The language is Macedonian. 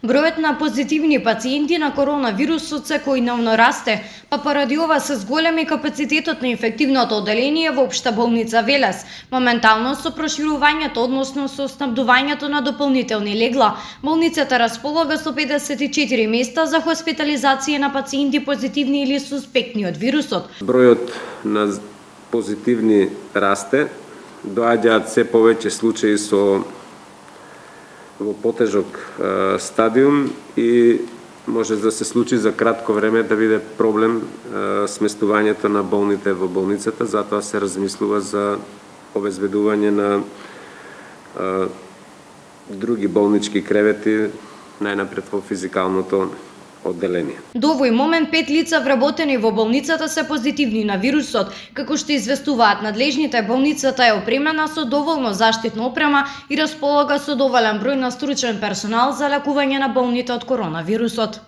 Бројот на позитивни пациенти на коронавирусот секојдневно расте, па поради ова се зголеми капацитетот на инфективното одделение во Општа болница Велес. Моментално со проширувањето, односно со снабдувањето на дополнителни легла, болницата располага со 54 места за хоспитализација на пациенти позитивни или суспектни од вирусот. Бројот на позитивни расте, доаѓаат се повеќе случаи во потежок стадиум и може да се случи за кратко време да биде проблем сместувањето на болните во болницата, затоа се размислува за обезбедување на други болнички кревети, најнапред во физикалното одделение. До овој момент 5 лица вработени во болницата се позитивни на вирусот. Како што известуваат надлежните, болницата е опремена со доволно заштитна опрема и располага со доволен број на стручен персонал за лекување на болните од коронавирусот.